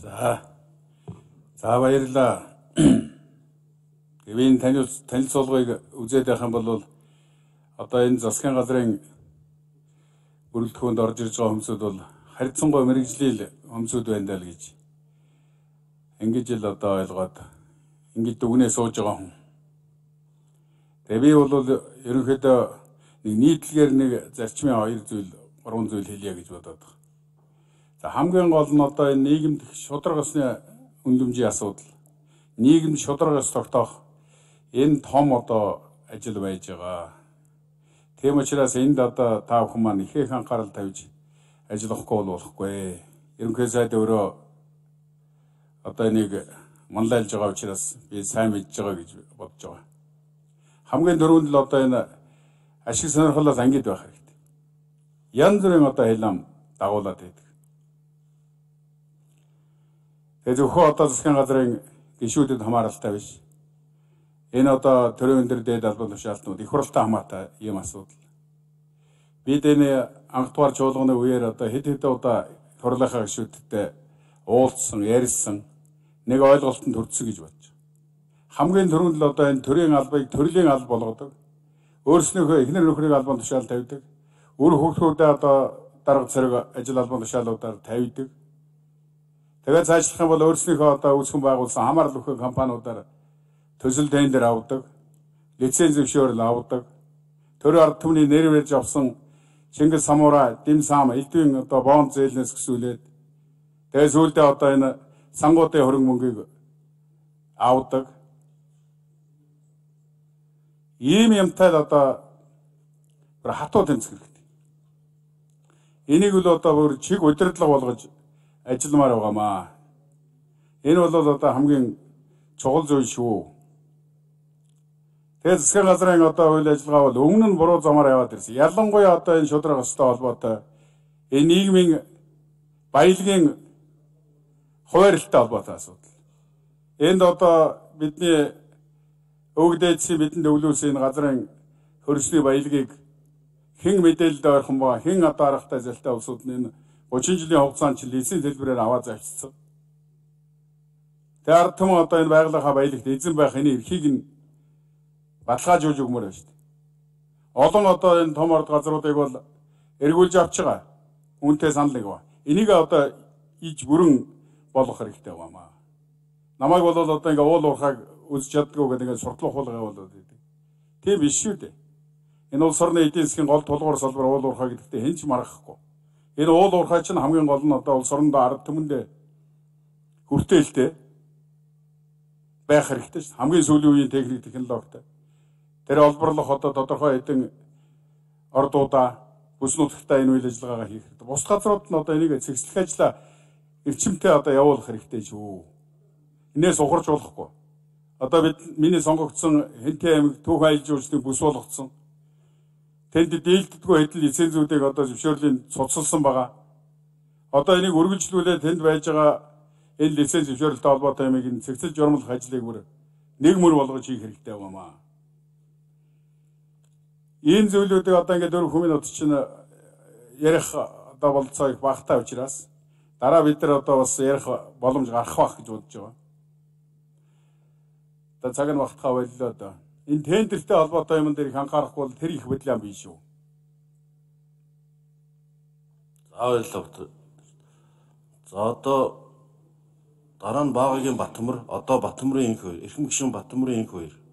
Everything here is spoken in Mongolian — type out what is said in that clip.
За баярлалаа. Гэвийн танилцуулгыг үзээд байх юм бол одоо энэ засгийн газрын бүрэлдэхүүнд орж ирж байгаа хүмүүсүүд бол харьцангуй мэрэгжлийн хүмүүсүүд байна даа л гэж ингэж л одоо ойлгоод ингэж дүгнээ сууж байгаа хүн. Тэгээ би бол ерөнхийдөө нэг нийтлэгээр нэг зарчмын 3 зүйл хэлье гэж бодоод байна. За хамгийн гол нь одоо энэ нийгэмд шударгасны үнэлэмжийн асуудал, нийгэмд шударгаас тогтоох энэ том одоо ажил байж байгаа. Тийм учраас энд одоо та бүхэн маань их анхаарал тавьж ажиллахгүй болохгүй. Ерөнхий сайд өөрөө одоо энийг манлайлж байгаа учраас би сайн мэдж байгаа гэж бодож байгаа. Хамгийн дөрөнд л одоо энэ ашиг сонирхолоос ангид байх хэрэгтэй. Янз бүрийн одоо хэлэм дагуулад байдаг. Тэгээ зөвхөн одоо засгийн газрын гишүүдэд хамааралтай биш. Энэ одоо төрийн өндөр дээд албан тушаалтнууд их хурлтай хамаатай юм асуудал. Бид энэ анх дугаар чуулганы үеэр одоо хэд удаа хурлынхаа гишүүдтэй уулзсан, ярьсан, нэг ойлголтод хүрсэн гэж бодож байна. Хамгийн түрүүнд л одоо энэ төрийн албыг төрлийн алба болгодог. Өөрснөөхөө эхнэр нөхрийг албан тушаал тавьдаг. Үр хөвгүүдээ одоо дарга зэрэг ажил албан тушаалуудаар тавьдаг. Тэгээд цаашлах юм бол өөрснөөхөө одоо үүсгэн байгуулсан хамаарал өгөх компаниудаар төсөл тендер авдаг, лиценз зөвшөөрөл авдаг. Төрийн ард түмний нэр барьж авсан Чингис Самура, Дим Сам, элдвийн одоо бонд зээлнээс гисүүлээд тэгээд сүүлдээ одоо энэ сангуудын хөрөнгө мөнгийг авдаг. Ийм юмтай л одоо хатуу тэмцэх хэрэгтэй. Энийг л одоо бүр чиг удирдлага болгож ажилламаар байгаамаа. Энэ бол одоо хамгийн чухал зүйл шүү. Тэгээд засгийн газрын одоо үйл ажиллагаа бол өмнө нь буруу замаар яваад ирсэн. Ялангуяа одоо энэ шударгастай холбоотой энэ нийгмийн баялагын хуваарлалтай холбоотой асуудал. Энд одоо бидний өвгдээдсийн бидэнд өвлүүлсэн энэ газрын хөрсний баялагийг хэн мэдээлэлд ойрхон ба хэн одоо аргатай залтай улсууд нь энэ 30 жилийн хугацаанд чинь лиценз хэлбэрээр аваад завьчихсан. Тэр ард түмэн одоо энэ байгалийнхаа баялагт эзэн байх энэ эрхийг нь баталгаажуулж өгмөр байна шүү дээ. Олон одоо энэ том орд газруудыг бол эргүүлж авч байгаа. Үүнтэй санал нэг ба. Энийг одоо иж бүрэн болгох хэрэгтэй байгаамаа. Намайг бол одоо ингээ уул уурхайг үзэж чаддгүй гэдэг ингээ суртлах хулгай болоод байдаг. Тийм биш шүү дээ. Энэ улс орны эдийн засгийн гол тулгуур салбар уул уурхай гэдэгтээ хэн ч маргахгүй. Энэ уул уурхай чинь хамгийн гол нь одоо улс орондоо ард түмэндээ хүртээлтэй байх хэрэгтэй шүү. Хамгийн сүүлийн үеийн техник технологитой. Тэр олборлох одоо тодорхой хэдэн ордуудаа бүс нутагтаа энэ үйл ажиллагаагаа хийх хэрэгтэй. Бус газрууд нь одоо энийг цэгцлэх ажлаа эрчимтэй одоо явуулах хэрэгтэй шүү. Инээс ухарч болохгүй. Одоо миний сонгогдсон Хэнтэй аймаг Түүх аялал жуулчлалын бүс болгоцсон. Тэнд дийлддэггүй хэдэн лицензүүдийг одоо зөвшөөрлийн цуцлсан байгаа. Одоо энийг үргэлжлүүлээд тэнд байж байгаа энэ лиценз зөвшөөрөлтэй холбоотой юмыг цэгцэл журмлах ажлыг бүр нэг мөр болгож хийх хэрэгтэй байгаамаа. Ийм зүйлүүдийг одоо ингээд 4 минут чинь ярих одоо болцоо их багтаа учраас дараа бид нар одоо бас ярих боломж гарах байх гэж бодож байгаа. Одоо цаг нь багтахаа боллоо одоо. Энэ тендертэй холбоотой юм дээр их анхаарахгүй бол тэр их бодлоо биш шүү. За баярлалаа. За одоо дараа нь Баагагийн Батмөр, одоо Батмөрийн энх хоёр, Эрхэм гишүүн Батмөрийн энх хоёр